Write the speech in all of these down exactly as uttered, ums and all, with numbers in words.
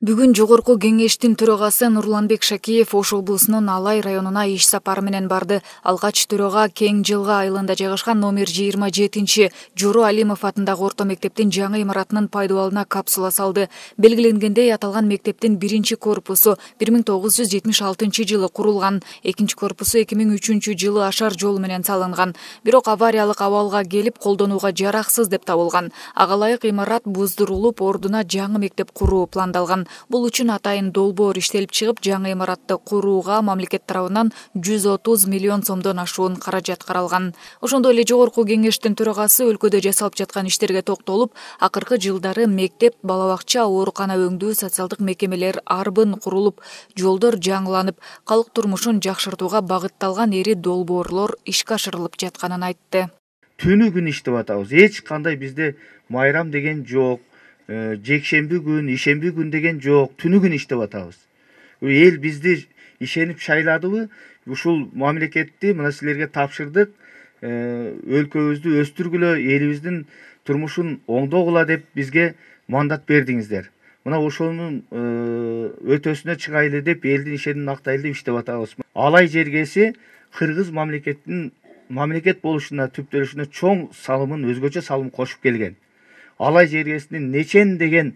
Бүгүн Жогорку Кеңештин төрагасы Нурланбек Шакиев Ош облусунун Алай районуна иш сапары менен барды. Алгач төрага Кең Жылга айылында жайгашкан номер жыйырма жетинчи Жору Алимов атындагы орто мектептин жаңы имаратынын пайдаланууна капсула салды. Белгиленгендей, аталган мектептин биринчи корпусу бир миң тогуз жүз жетимиш алтынчы жылы курулган, экинчи корпусу эки миң үчүнчү жылы ашар жол менен салынган. Бирок авариялык абалга келип колдонууга жараксыз деп табылган. Ага ылайык имарат буздурулуп, ордуна жаңы мектеп куруу пландалган. Бул үчүн атайын долбоор иштелип чыгып, жаңы имаратты курууга мамлекет тарабынан жүз отуз миллион сомдон ашуун каражат каралган. Ошондой эле Жогорку Кеңештин төрагасы өлкөдө жасалып жаткан иштерге токтолуп, акыркы жылдары мектеп, бала бакча, оорукана өңдүү, социалдык мекемелер арбын курулуп, жолдор жаңыланып, калк турмушун жакшыртууга багытталган эри долбоорлор ишке ашырылып жатканын айтты. Түнү күн иштеп атабыз. Эч кандай бизде майрам деген жок. Жекшемби күн, ишемби күн деген жок. Түнү күн иштеп атабыз. Эл бизди ишенип шайладыбы? Ушул мамлекетти мына силерге тапшырдык. Өлкөбүздү өстүргүлө, элибиздин турмушун оңдогула деп бизге мандат бердиңиздер. Мына ошонун өтөсүнө чыгайлы деп, элдин ишенин актайлы деп иштеп атабыз. Алай жергеси кыргыз мамлекеттин мамлекет болушуна, түптөлүшүнө чоң салымын, өзгөчө салым кошуп келген. Алай жергесинин нечен деген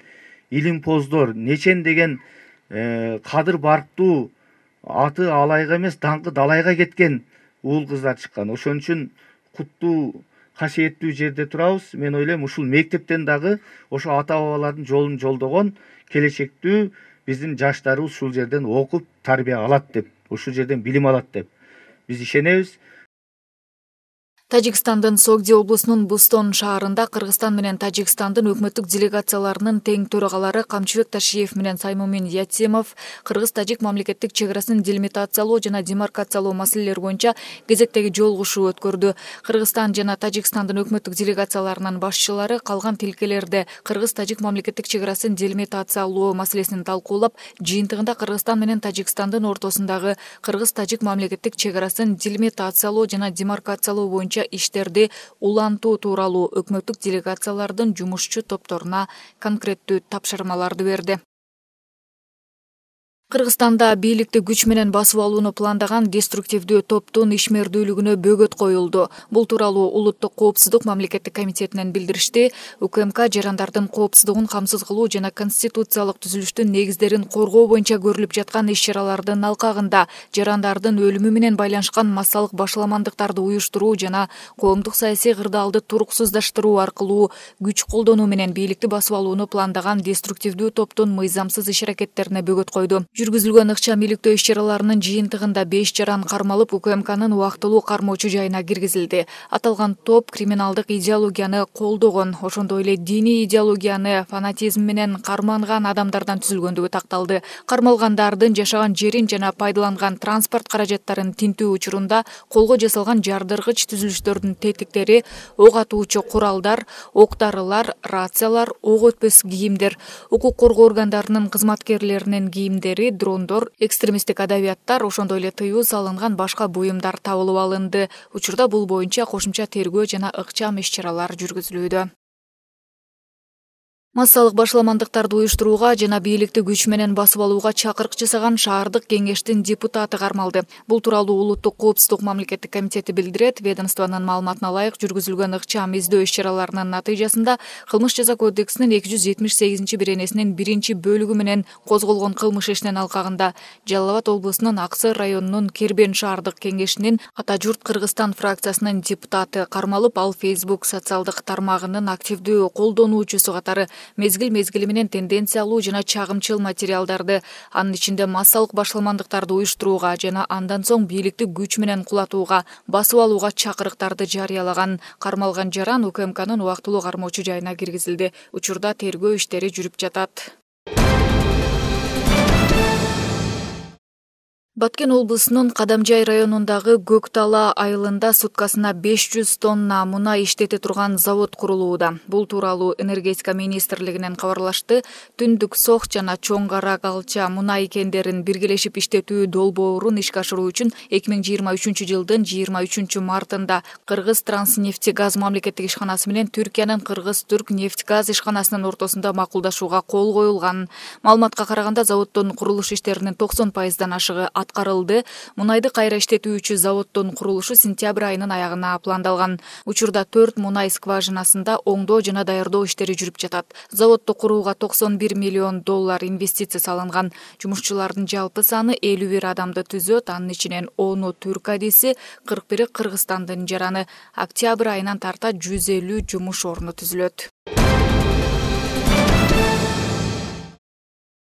илимпоздор, нечен деген кадыр барктуу, аты Алайга эмес, даңкы Далайга кеткен уул кыздар чыккан. Ошон үчүн куттуу, касиеттүү жерде турабыз. Мен ойлойм, ушул мектептен дагы ошо ата бабалардын жолун жолдогон келечектүү биздин жаштарыбыз ушул жерден окуп, тарбия алат деп, ушул жерден билим алат деп биз ишенебиз. Тажикстандын Согди облусунун Бустон шаарында Кыргызстан менен Тажикстандын өкмөттүк делегацияларынын тең төрагалары Камчыбек Ташиев менен Саймумин Ятимов Кыргыз-Тажик мамлекеттик чек арасын делимитациялоо жана демаркациялоо маселелери боюнча кезектеги жолугушуу өткөрдү. Кыргызстан жана Тажикстандын өкмөттүк делегацияларынын башчылары калган тилкелерде Кыргыз-Тажик мамлекеттик чек арасын делимитациялоо маселесин талкуулап, жыйынтыгында Кыргызстан менен Тажикстандын ортосундагы Кыргыз-Тажик мамлекеттик чек арасын делимитациялоо жана демаркациялоо боюнча иштерди улантуу тууралуу өкмөттүк делегациялардын жумушчу топторуна конкреттүү тапшырмаларды берди. Кыргызстанда бийликти күч менен басып алууну пландаган деструктивдүү топтун ишмердүүлүгүнө бөгөт коюлду. Бул тууралуу Улуттук коопсуздук мамлекеттик комитетинен билдиришти. УКМК жарандардын коопсуздугун камсыз кылуу жана конституциялык түзүлүштүн негиздерин коргоо боюнча көрүлүп жаткан иш-чаралардын алкагында жарандардын өлүмү менен байланышкан массалык башаламандыктарды уюштуруу жана коомдук саясий кырдаалды туруксуздаштыруу аркылуу күч колдонуу менен бийликти басып алууну пландаган деструктивдүү топтун мыйзамсыз иш-аракеттерине бөгөт койду. Жүргүзүлгөн ыкчам иликтөө иш-чараларынын жыйынтыгында беш жаран кармалып, УКМКнын убактылуу кармоочу жайына киргизилди. Аталган топ криминалдык идеологияны колдогон, ошондой эле диний идеологияны фанатизм менен карманган адамдардан түзүлгөндүгү такталды. Кармалгандардын жашаган жерин жана пайдаланган транспорт каражаттарын тинтүү учурунда колго жасалган жардыргыч түзүлүштөрдүн тетиктери, ок атуучу куралдар, ок-дарылар, рациялар, ок өтпөс кийимдер, укук коргоо органдарынын кызматкерлеринин кийимдери, дрондор, экстремисттик адабияттар, ошондой эле тыюу салынган башка буюмдар табылып алынды. Учурда бул боюнча кошумча тергөө жана ыкчам иш-чаралар жүргүзүлүүдө. Массалык башаламандыктарды уюштурууга жана бийликти күч менен басып алууга чакырык жасаган шаардык кеңештин депутаты кармалды. Бул тууралуу Улуттук коопсуздук мамлекеттик комитети билдирет. Ведомствонун маалыматына ылайык, жүргүзүлгөн ыкчам издөө иш-чараларынын натыйжасында кылмыш жаза кодексинин эки жүз жетимиш сегизинчи беренесинин биринчи бөлүгү менен козголгон кылмыш ишинин алкагында Жалал Абад облусунун Аксы районунун Кербен шаардык кеңешинин Ата журт Кыргызстан фракциясынын депутаты кармалып, ал Facebook социалдык тармагынын активдүү колдонуучусу катары мезгил-мезгили менен тенденциялуу жана чагымчыл материалдарды, анын ичинде массалык башаламандыктарды уюштурууга жана андан соң бийликти күч менен кулатууга, басып алууга чакырыктарды жарыялаган. Кармалган жаран УКМКнын убактылуу кармоочу жайына киргизилди. Учурда тергөө иштери жүрүп жатат. Баткен облусунун Кадамжай районундагы Көктала айылында суткасына беш жүз тонна мунай иштете турган завод курулууда. Бул тууралуу энергетика министрлигинен кабарлашты. Түндүк Сох жана Чоң Кара Калча мунай кендерин биргелешип иштетүү долбоорун ишке ашыруу үчүн эки миң жыйырма үчүнчү жылдын жыйырма үчүнчү мартында Кыргыз Транснефтегаз мамлекеттик ишканасы менен Түркиянын Кыргыз Түрк нефтгаз ишканасынын ортосунда макулдашууга кол коюлган. Маалыматка караганда заводдун курулуш иштеринин токсон пайыздан ашыгы аткарылды. Мунайды кайра иштетүүчү заводдун курулушу сентябрь айынын аягына пландалган. Учурда төрт мунай скважинасында оңдоо жана даярдоо иштери жүрүп жатат. Заводду курууга токсон бир миллион доллар инвестиция салынган. Жумушчулардын жалпы саны элүү бир адамды түзөт. Анын ичинен ону түрк адиси, кырк бири Кыргызстандын жараны. Октябрь айынан тарта жүз элүү жумуш орну түзүлөт.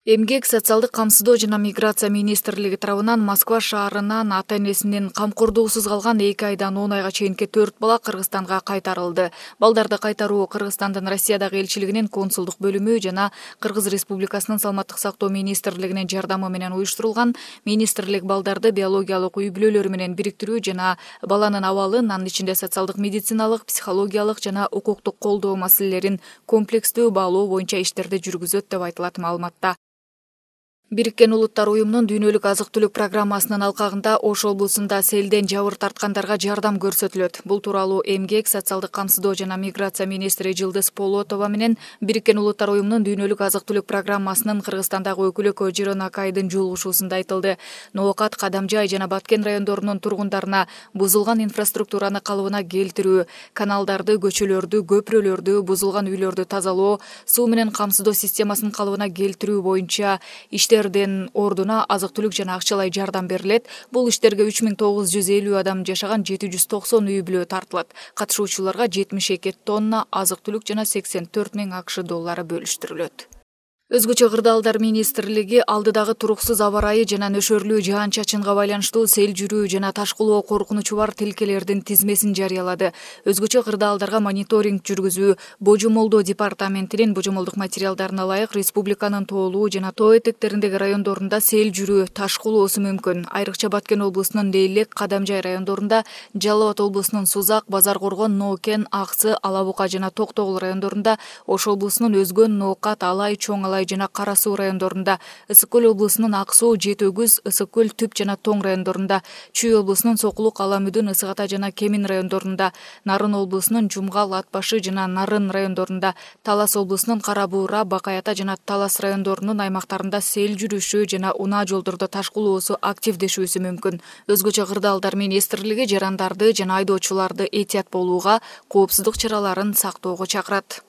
Эмгек, социалдык камсыздоо жана миграция министрлиги тарабынан Москва шаарынан ата-энесинин камкордугусуз калган эки айдан он айга чейинки төрт бала Кыргызстанга кайтарылды. Балдарды кайтаруу Кыргызстандын Россиядагы элчилигинин консулдук бөлүмү жана Кыргыз Республикасынын саламаттык сактоо министрлигинин жардамы менен уюштурулган. Министрлик балдарды биологиялык үй-бүлөлөрү менен бириктирүү жана баланын абалын, анын ичинде социалдык, медициналык, психологиялык жана укуктук колдоо маселелерин комплекстүү баалоо боюнча иштерди жүргүзөт деп айтылат маалыматта. Бириккен Улуттар уюмунун дүйнөлүк азык-түлүк программасынын алкагында Ош облусунда селден жабыр тарткандарга жардам көрсөтүлөт. Бул тууралуу Эмгек, социалдык камсыздоо жана миграция министри Жылдыз Полотова менен Бириккен Улуттар уюмунун дүйнөлүк азык-түлүк программасынын Кыргызстандагы өкүлү Көжөрөн Акайдын жолугушуусунда айтылды. Ноокат, Кадамжай жана Баткен райондорунун тургундарына бузулган инфраструктураны калыбына келтирүү, каналдарды, көчөлөрдү, көпүрөлөрдү, бузулган үйлөрдү тазалоо, суу менен камсыздоо системасын калыбына келтирүү боюнча иште Иштердин ордуна азык-түлүк жана акчалай жардам берилет. Бул иштерге үч миң тогуз жүз элүү адам жашаган жети жүз токсон үй бүлө тартылат. Катышуучуларга жетимиш эки тонна азык-түлүк жана сексен төрт миң акш доллары бөлүштүрүлөт. Өзгөчө кырдаалдар министрлиги алдыдагы туруксуз аба ырайы жана нөшөрлүү жаан-чачынга байланыштуу сел жүрүү жана ташкылоо коркунучу бар тилкелердин тизмесин жарыялады. Өзгөчө кырдаалдарга мониторинг жүргүзүү, божомолдоо департаментинин божомолдук материалдарына ылайык республиканын тоолуу жана тоо этектериндеги райондорунда сел жүрүү, ташкылоосу мүмкүн. Айрыкча Баткен облусунун Лейлек, Кадамжай райондорунда, Жалал Абад облусунун Сузак, Базар Коргон, Ноокен, Аксы, Ала Бука жана Токтогул райондорунда, Ош облусунун Өзгөн, Ноокат, Алай, Чоң Алай жана Кара Суу райондорунда, Ысык көл облусунун Ак Суу, Жети Өгүз, Ысык көл, Түп жана Тоң райондорунда, Чүй облусунун Сокулук, Аламүдүн, Ысык Ата жана Кемин райондорунда, Нарын облусунун Жумгал, Ат Башы жана Нарын райондорунда, Талас облусунун Кара Буура, Бакай Ата жана Талас райондорунун аймактарында сел жүрүшү жана унаа жолдордо ташкылоосу активдешүүсү мүмкүн. Өзгөчө кырдаалдар министрлиги жарандарды жана айдоочуларды этият болууга, коопсуздук чараларын сактоого чакырат.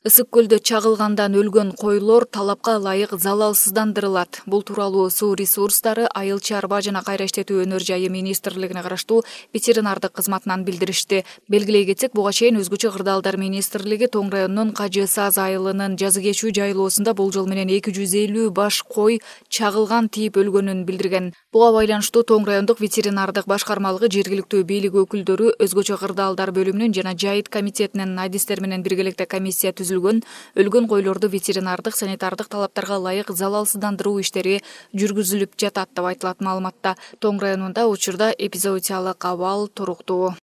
Ысык көлдө чагылгандан өлгөн койлор талапка ылайык залалсыздандырылат. Бул тууралуу суу ресурстары, айыл чарба жана кайра иштетүү өнөр жайы министрлигине караштуу ветеринардык кызматынан билдиришти. Белгилей кетсек, буга чейин өзгөчө кырдаалдар министрлиги Тоң районунун Кажы Саз айылынын жазы кечүү жайлоосунда болжол менен эки жүз элүү баш кой чагылган тийип өлгөнүн билдирген. Буга байланыштуу Тоң райондук ветеринардык башкармалыгы, жергиликтүү бийлик өкүлдөрү, өзгөчө кырдаалдар бөлүмүнүн жана Жайыт комитетинин адистер менен биргеликте комиссия түзүлгөн. Өлгөн койлорду ветеринардык, санитардык талаптарга ылайык залалсыздандыруу иштери жүргүзүлүп жатат деп айтылат маалыматта. Тоң районунда учурда эпизоотиялык абал туруктуу.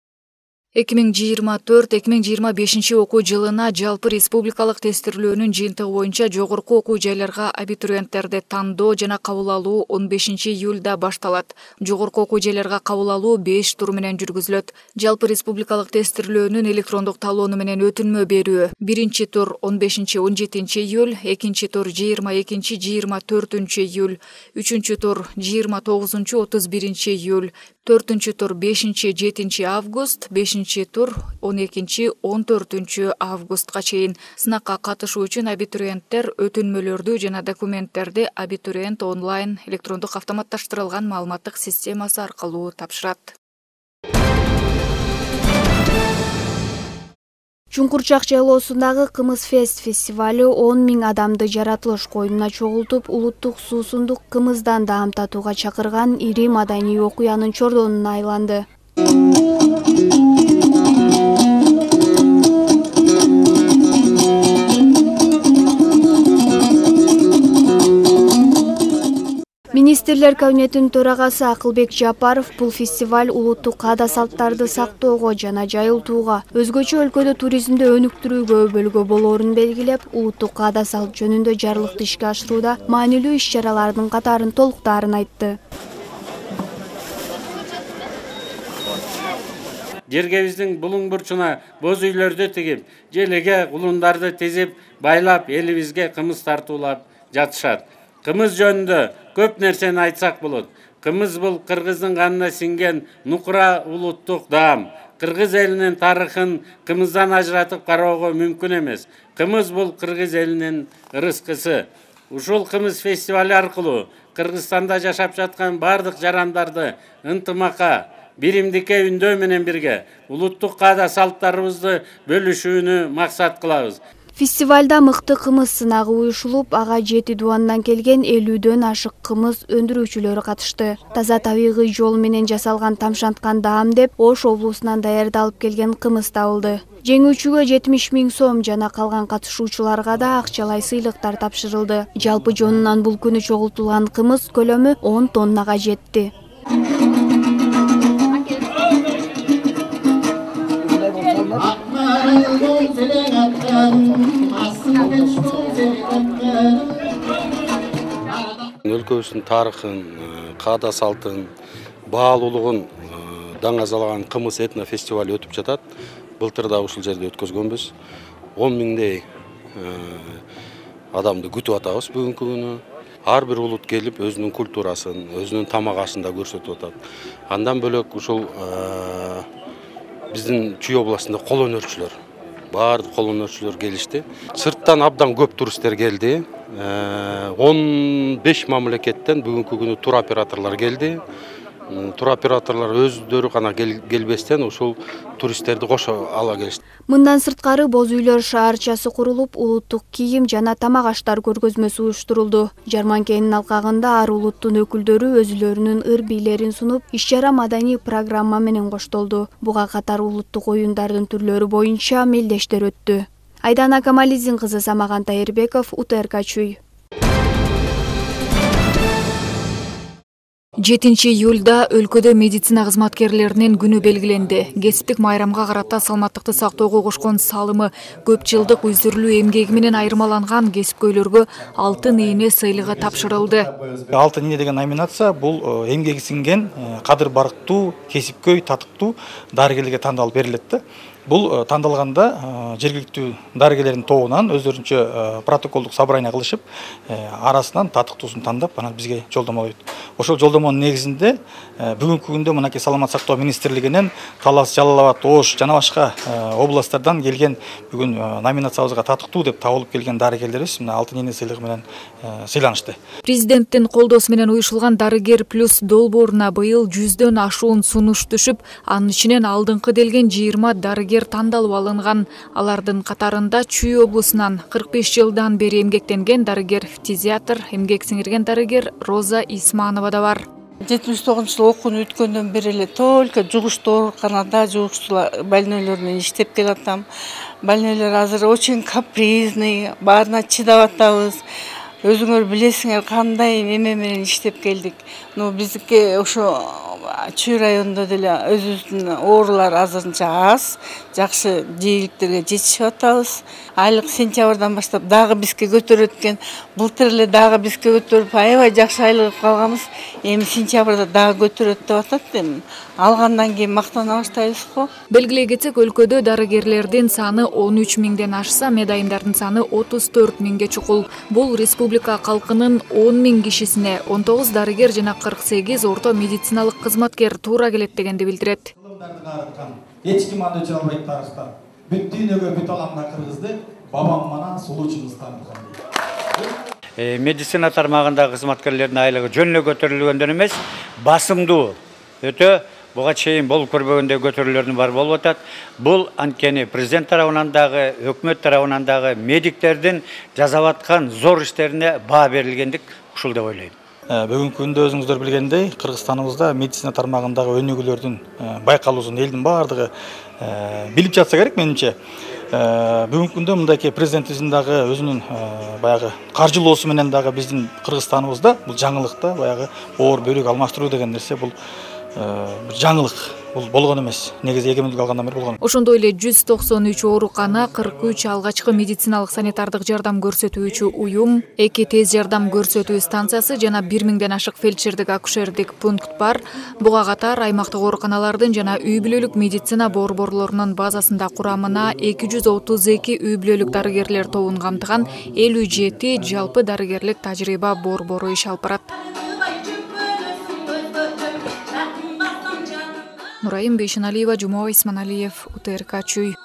эки миң жыйырма төрт эки миң жыйырма бешинчи окуу жылына жалпы республикалык тестирлөөнүн жыйынтыгы боюнча жогорку окуу жайларга абитуриенттерди тандоо жана кабыл алуу он бешинчи июлда башталат. Жогорку окуу жайларга кабыл алуу беш тур менен жүргүзүлөт. Жалпы республикалык тестирлөөнүн электрондук талоону менен өтүнмө берүү. Биринчи тур он бешинчи он жетинчи июль, экинчи тур жыйырма экинчи жыйырма төртүнчү июль, үчүнчү тур жыйырма тогузунчу отуз биринчи июль, төртүнчү тур бешинчи жетинчи август, бешинчи тур он экинчи он төртүнчү августка чейин. Сынакка катышуу үчүн абитуриенттер өтүнмөлөрдү жана документтерди абитуриент онлайн электрондук автоматташтырылган маалыматтык системасы аркылуу тапшырат. Чуңкурчак жайлоосундагы Кымыз Фест фестивалю он миң адамды жаратылыш коюмуна чогултуп, улуттук суусундук кымыздан даам татууга чакырган ири маданий окуянын чордонуна айланды. Министрлер кабинетинин төрагасы Акылбек Жапаров бул фестиваль улуттук каада салттарды сактоого жана жайылтууга, өзгөчө өлкөдө туризмди өнүктүрүүгө өбөлгө болоорун белгилеп, улуттук каада салт жөнүндө жарлыкты ишке ашырууда маанилүү иш-чаралардын катарын толуктаарын айтты. Жергебиздин булуң бурчуна боз үйлөрдү тигип, желеге кулундарды тизип, байлап, элибизге кымыз тартуулап жатышат. Кымыз жөнүндө көп нерсени айтсак болот. Кымыз бул кыргыздын канына сиңген нукура улуттук даам. Кыргыз элинин тарыхын кымыздан ажыратып кароого мүмкүн эмес. Кымыз бул кыргыз элинин ырыскысы. Ушул кымыз фестивали аркылуу Кыргызстанда жашап жаткан бардык жарандарды ынтымакка, биримдикке үндөө менен бирге улуттук каада салттарыбызды бөлүшүүнү максат кылабыз. Фестивальда мыкты кымыз сынагы уюшулуп, ага жети дубандан келген элүүдөн ашык кымыз өндүрүүчүлөр катышты. Таза табигый жол менен жасалган тамшанткан даам деп Ош облусунан даярдалып келген кымыз табылды. Жеңүүчүгө жетимиш миң сом жана калган катышуучуларга да акчалай сыйлыктар тапшырылды. Жалпы жонунан бул күнү чогултулган кымыз көлөмү он тоннага жетти. Өлкөбүздүн тарыхын, каада салтын, баалуулугун даңазалаган кымыз этно фестивали өтүп жатат. Былтыр да ушул жерде өткөзгөнбүз. он миңдей адамды күтүп атабыз бүгүнкү күнү. Ар бир улут келип өзүнүн культурасын, өзүнүн тамак ашын да көрсөтүп атат. Андан бөлөк ушул биздин Чүй областында кол өнөрчүлөр, баардык кол өнөрчүлөр келишти. Сырттан абдан көп туристтер келди. он беш мамлекеттен бүгүнкү күнү тур операторлор келди. Тур операторлор өздөрү гана келбестен ушул туристтерди кошо ала келишти. Мындан сырткары боз үйлөр шаарчасы курулуп, улуттук кийим жана тамак аштар көргөзмөсү уюштурулду. Жарманкенин алкагында ар улуттун өкүлдөрү өзүлөрүнүн ыр-бийлерин сунуп, иш-чара маданий программа менен коштолду. Буга катар улуттук оюндардын түрлөрү боюнча мелдештер өттү. Айдана Камалидин кызы Самаган Тайырбеков, У Т Р К Чүй. жетинчи июлда өлкөдө медицина кызматкерлеринин күнү белгиленди. Кесиптик майрамга карата саламаттыкты сактоого кошкон салымы, көп жылдык үзүрүлүү эмгеги менен айырмаланган кесипкөйлөргө алтын ээне сыйлыгы тапшырылды. Алтын ээне деген номинация бул эмгеги сиңген кадыр барктуу, кесипкөй, татыктуу дарыгерлерге тандалып берилет да. Бул тандалганда жергиликтүү дарыгерлердин тобунан өздөрүнчө протоколдук собрание кылышып, арасынан татыктуусун тандап, анан бизге жолдомо койду. Ошол жолдомонун негизинде бүгүнкү күндө мынакей саламат сактоо министрлигинен Талас, Жалал Абад, Ош жана башка областтардан келген бүгүн номинациябызга татыктуу деп табылып келген дарыгерлерибиз мына алтын ээне сыйлыгы менен сыйланышты. Президенттин колдоосу менен уюшулган Дарыгер плюс долбооруна быйыл жүздөн ашуун сунуш түшүп, анын ичинен алдыңкы делген жыйырма дарыгер тандалып алынган. Алардын катарында Чүй облусунан кырк беш жылдан бери эмгектенген дарыгер фтизиатр, эмгек сиңирген дарыгер Роза Исманова да бар. жетимиш тогузунчу жылы окууну өткөндөн бери эле только жугуштуу ооруканада жугуштуу больнойлор менен иштеп келатам. Больнойлор азыр очень капризный, баарына чыдап атабыз. Өзүңөр билесиңер кандай эме менен иштеп келдик. Ну биздики ошо Чүй районунда деле өзүбүздүн оорулар азырынча аз, жакшы жийиликтерге жетишип атабыз. Айлык сентябрдан баштап дагы бизге көтөрөт экен. Былтыр эле дагы бизге көтөрүп, аябай жакшы айлык калганбыз. Эми сентябрда дагы көтөрөт деп атат эми. Алгандан кийин мактана баштайбыз го. Белгилей кетсек, өлкөдө дарыгерлердин саны он үч миңден ашса, медайымдардын саны отуз төрт миңге чукул. Бул республика калкынын он миң кишисине он тогуз дарыгер жана кырк сегиз орто медициналык кызматкер туура келет дегенди билдирет. Эч ким аны өчүрө албайт тарыхта. Бүт дүйнөгө бүт аламда кыргызды бабам манан сулуучубуз таныткан дейт. Медицина тармагындагы кызматкерлердин айлыгы жөн эле көтөрүлгөндөн эмес, басымдуу өтө буга чейин болуп көрбөгөндөй көтөрүүлөрдүн бар болуп атат. Бул анткени президент тарабынан дагы, өкмөт тарабынан дагы медиктердин жасап аткан зор иштерине баа берилгендик ушул деп ойлойм. Бүгүнкү күндө өзүңүздөр билгендей, Кыргызстаныбызда медицина тармагындагы өнүгүүлөрдүн байкалуусун элдин баардыгы билип жатса керек менимче. Бүгүнкү күндө мындайки президентибиздин дагы өзүнүн баягы каржылоосу менен дагы биздин Кыргызстаныбызда бул жаңылык да баягы оор бөлүк алмаштыруу деген нерсе бул бир жаңылык. Бул болгон эмес. Негизи эгемендик алгандан бери болгон. Ошондой эле жүз токсон үч оорукана, кырк үч алгачкы медициналык санитардык жардам көрсөтүүчү уюм, эки тез жардам көрсөтүү станциясы жана бир миңден ашык фельдшердик акушердик пункт бар. Буга катар аймактык ооруканалардын жана үй бүлөлүк медицина борборлорунун базасында курамына эки жүз отуз эки үй бүлөлүк дарыгерлер тобун камтыган элүү жети жалпы дарыгерлик тажрыйба борбору иш алып барат. Нурайым Бейшеналиева, Жумова Исманалиев, УТРК Чүй.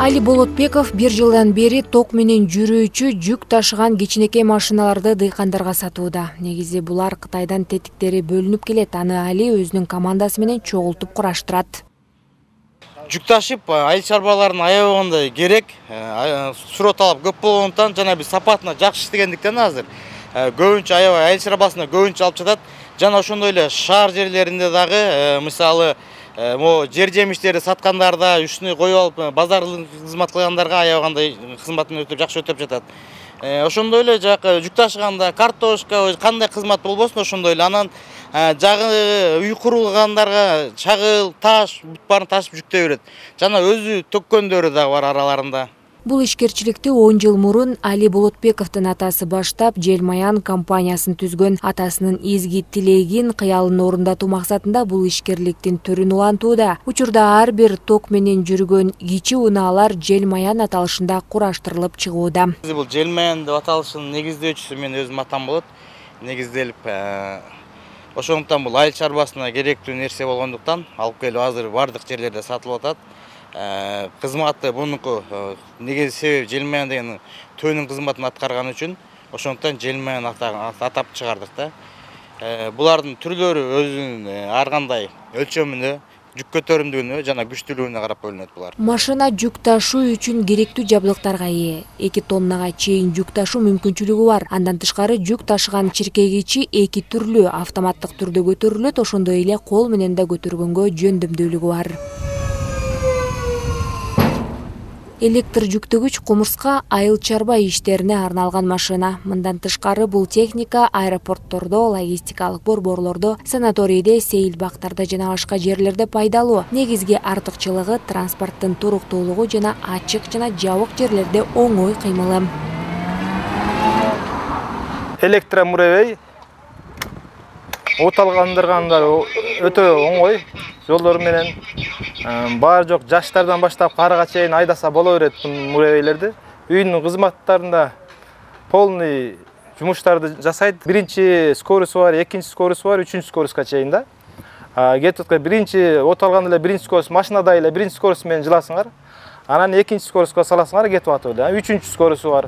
Али Болотбеков бир жылдан бери ток менен жүрүүчү жүк ташыган кичинекей машиналарды дыйкандарга сатууда. Негизи булар Кытайдан тетиктери бөлүнүп келет. Аны Али өзүнүн командасы менен чогултуп кураштырат. Жүк ташып айыл чарбаларын аябаганда керек. Суроо талап көп болгондуктан жана биз сапатына жакшы иштегендиктен азыр көбүнчө аябай айыл чарбасына көбүнчө алып жатат. Жана ошондой эле шаар жерлеринде дагы мисалы Мо жер жемиштерди саткандарда үстүнө коюп алып базарлык кызмат кылгандарга аябагандай кызматын өтөп жакшы өтөп жатат. Ошондой эле жакы жүк ташыганда картошка кандай кызмат болбосун ошондой эле анан жагы үй курулгандарга чагыл, таш, бүт баарын ташып жүктөй берет. Жана өзү төккөндөрү да бар араларында. Бул ишкерчиликти он жыл мурун Али Болотбековдун атасы баштап, Желмаян компаниясын түзгөн. Атасынын изги тилегин, кыялын орундатуу максатында бул ишкерликтин түрүн улантууда. Учурда ар бир ток менен жүргөн кичи унаалар Желмаян аталышында кураштырылып чыгууда. Бул Желмаян деп аталышынын негиздөөчүсү мен өзүм атам болот. Негизделип, ошондуктан бул айыл чарбасына керектүү нерсе болгондуктан алып келип азыр бардык жерлерде сатылып атат. Кызматы бунуку негизи себеби Желмаян деген төөнүн кызматын аткарган үчүн ошондуктан Желмаян атап чыгардык да. Булардын түрлөрү өзүнүн ар кандай өлчөмүнө, жүк көтөрүмдүгүнө жана күчтүүлүгүнө карап бөлүнөт булар. Машина жүк ташуу үчүн керектүү жабдыктарга ээ. эки тоннага чейин жүк ташуу мүмкүнчүлүгү бар. Андан тышкары жүк ташыган чиркегичи эки түрлүү автоматтык түрдө көтөрүлөт, ошондой эле кол менен да көтөргөнгө жөндөмдүүлүгү бар. Электр жүктөгүч кумурска айыл чарба иштерине арналган машина. Мындан тышкары бул техника аэропорттордо, логистикалык борборлордо, санаторийде, сейил бактарда жана башка жерлерде пайдалуу. Негизги артыкчылыгы транспорттун туруктуулугу жана ачык жана жабык жерлерде оңой кыймылы. Электромуревей оталгандыргандар өтө оңой. Жолдор менен баар жок жаштардан баштап карыга чейин айдаса боло берет муревейлерди. Үйдүн кызматтарында полный жумуштарды жасайт. Биринчи скоросу бар, экинчи скоросу бар, үчүнчү скороско чейин да. Кетип биринчи от алганда эле биринчи скорос машинада эле биринчи скорос менен жыласыңар. Анан экинчи скороска саласыңар, кетип атат да. Үчүнчү скоросу бар.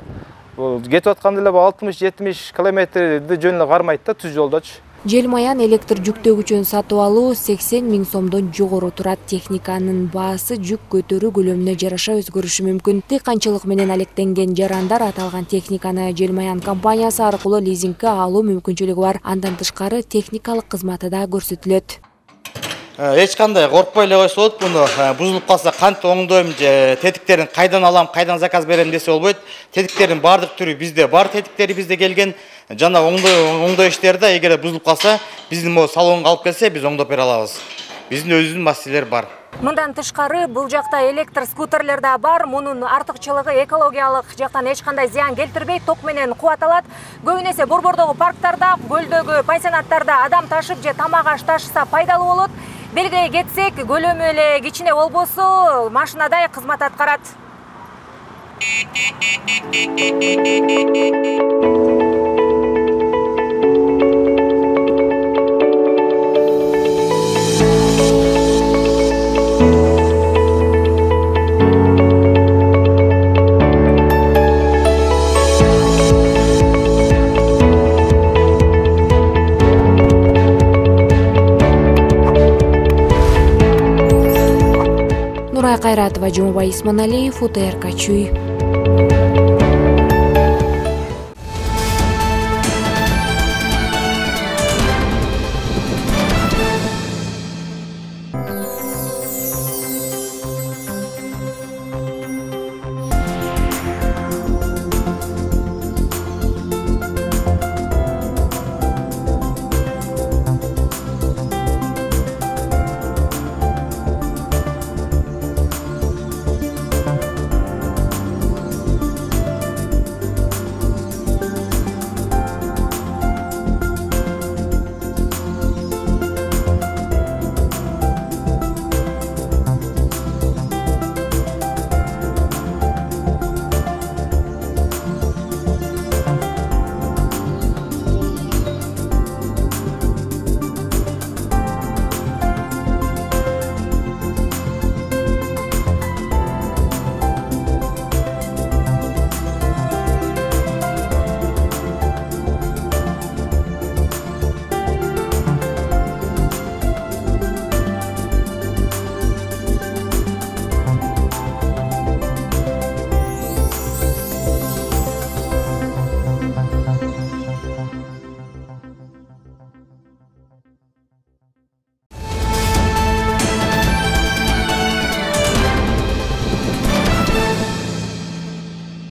Бул кетип атканда эле алтымыш жетимиш километрди жөн эле кармайт да түз жолдочу. Желмаян электр жүктөгүчүн сатып алуу сексен миң сомдон жогору турат. Техниканын баасы жүк көтөрүү көлөмүнө жараша өзгөрүшү мүмкүн. Дыйканчылык менен алектенген жарандар аталган техниканы Желмаян компаниясы аркылуу лизингге алуу мүмкүнчүлүгү бар. Андан тышкары техникалык кызматы да көрсөтүлөт. Эч кандай коркпой эле койсо болот. Муну бузулуп калса кантип оңдойм, тетиктерин кайдан алам, кайдан заказ берем десе болбойт. Тетиктердин баардык түрү бизде бар, тетиктери бизде келген. Жана оңдоо оңдоо иштерде эгер бузулуп калса, биздин могу салонго алып келсе, биз оңдоп бере алабыз. Биздин өзүбүздүн мастерлер бар. Мындан тышкары бул жакта электр скутерлер да бар. Мунун артыкчылыгы экологиялык жактан эч кандай зыян келтирбейт, ток менен кубаталат. Көбүнесе борбордогу парктарда, көлдөгү пансионаттарда адам ташып же тамак аш ташыса пайдалуу болот. Белгилей кетсек, көлөмү эле кичине болбосо, машинадай кызмат аткарат. Айратова, Жумабай Исманалиев, УТРК Чүй.